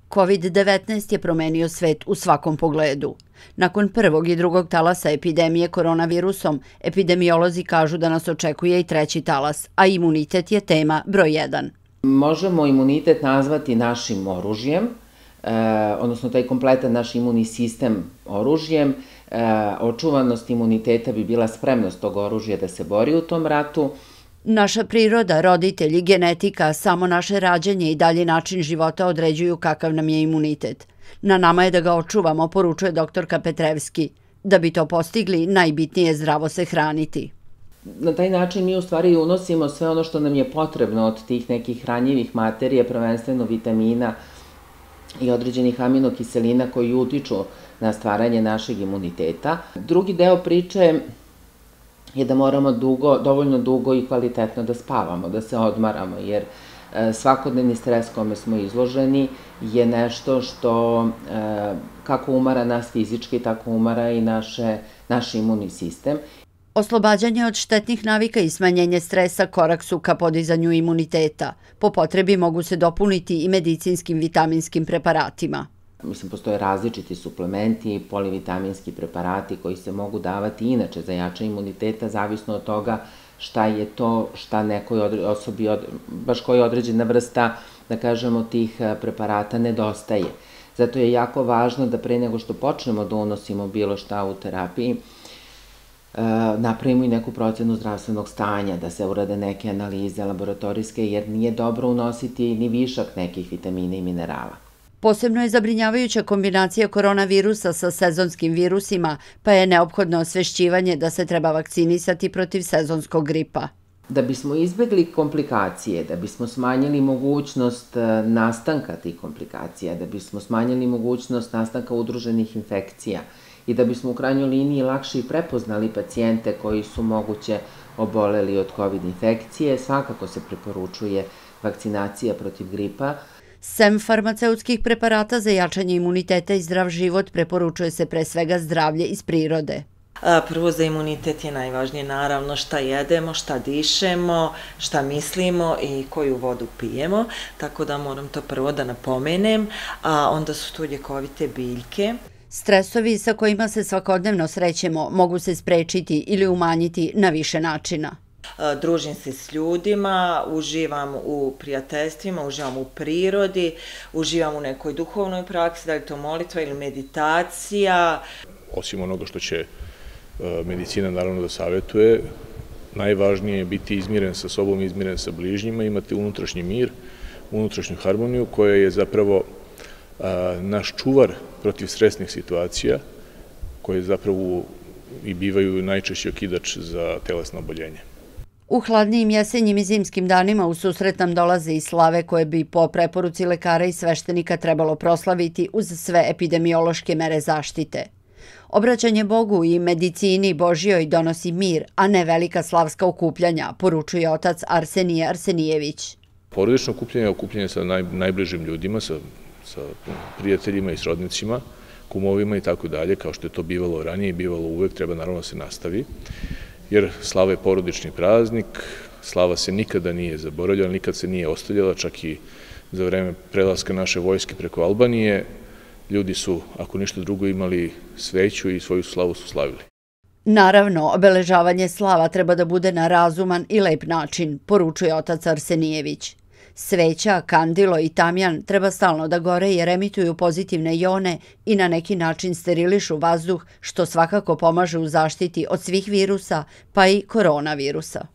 COVID-19 je promenio svet u svakom pogledu. Nakon prvog i drugog talasa epidemije koronavirusom, epidemiolozi kažu da nas očekuje i treći talas, a imunitet je tema broj 1. Možemo imunitet nazvati našim oružjem, odnosno taj kompletan naš imunni sistem oružjem. Očuvanost imuniteta bi bila spremnost tog oružja da se bori u tom ratu. Naša priroda, roditelji, genetika, samo naše rađanje i dalji način života određuju kakav nam je imunitet. Na nama je da ga očuvamo, poručuje doktorka Petrevski. Da bi to postigli, najbitnije je zdravo se hraniti. Na taj način mi u stvari unosimo sve ono što nam je potrebno od tih nekih hranjivih materija, prvenstveno vitamina i određenih aminokiselina koji utiču na stvaranje našeg imuniteta. Drugi deo priče je da moramo dovoljno dugo i kvalitetno da spavamo, da se odmaramo, jer svakodnevni stres kome smo izloženi je nešto što kako umara nas fizički, tako umara i naš imunni sistem. Oslobađanje od štetnih navika i smanjenje stresa korak su ka podizanju imuniteta. Po potrebi mogu se dopuniti i medicinskim vitaminskim preparatima. Postoje različiti suplementi, polivitaminski preparati koji se mogu davati inače za jačanje imuniteta, zavisno od toga šta je to, šta nekoj osobi, baš koja određena vrsta, da kažemo, tih preparata nedostaje. Zato je jako važno da pre nego što počnemo da unosimo bilo šta u terapiji, napravimo i neku procenu zdravstvenog stanja, da se urade neke analize laboratorijske, jer nije dobro unositi ni višak nekih vitamina i minerala. Posebno je zabrinjavajuća kombinacija koronavirusa sa sezonskim virusima, pa je neophodno osvešćivanje da se treba vakcinisati protiv sezonskog gripa. Da bismo izbegli komplikacije, da bismo smanjili mogućnost nastanka tih komplikacija, da bismo smanjili mogućnost nastanka udruženih infekcija i da bismo u krajnjoj liniji lakše i prepoznali pacijente koji su moguće oboleli od COVID infekcije, svakako se preporučuje vakcinacija protiv gripa. Sem farmaceutskih preparata za jačanje imuniteta i zdrav život preporučuje se pre svega zdravlje iz prirode. Prvo za imunitet je najvažnije naravno šta jedemo, šta dišemo, šta mislimo i koju vodu pijemo, tako da moram to prvo da napomenem, a onda su tu ljekovite biljke. Stresovi sa kojima se svakodnevno srećemo mogu se sprečiti ili umanjiti na više načina. Družim se s ljudima, uživam u prijateljstvima, uživam u prirodi, uživam u nekoj duhovnoj praksi, da li to molitva ili meditacija. Osim onoga što će medicina naravno da savjetuje, najvažnije je biti izmiren sa sobom, izmiren sa bližnjima, imati unutrašnji mir, unutrašnju harmoniju koja je zapravo naš čuvar protiv stresnih situacija, koje zapravo i bivaju najčešći okidač za telesno oboljenje. U hladnijim jesenjim i zimskim danima u susret nam dolaze i slave koje bi po preporuci lekara i sveštenika trebalo proslaviti uz sve epidemiološke mere zaštite. Obraćanje Bogu i medicini Božjoj donosi mir, a ne velika slavska okupljanja, poručuje otac Arsenije Arsenijević. Porodično okupljanje je okupljanje sa najbližim ljudima, sa prijateljima i srodnicima, kumovima i tako dalje, kao što je to bivalo ranije i bivalo uvek, treba naravno da se nastavi. Jer slava je porodični praznik, slava se nikada nije zaboravljala, nikad se nije ostavljala, čak i za vreme prelaska naše vojske preko Albanije. Ljudi su, ako ništa drugo, imali sveću i svoju slavu su slavili. Naravno, obeležavanje slava treba da bude na razuman i lep način, poručuje otac Arsenijević. Sveća, kandilo i tamjan treba stalno da gore jer emituju pozitivne jone i na neki način sterilišu vazduh, što svakako pomaže u zaštiti od svih virusa, pa i koronavirusa.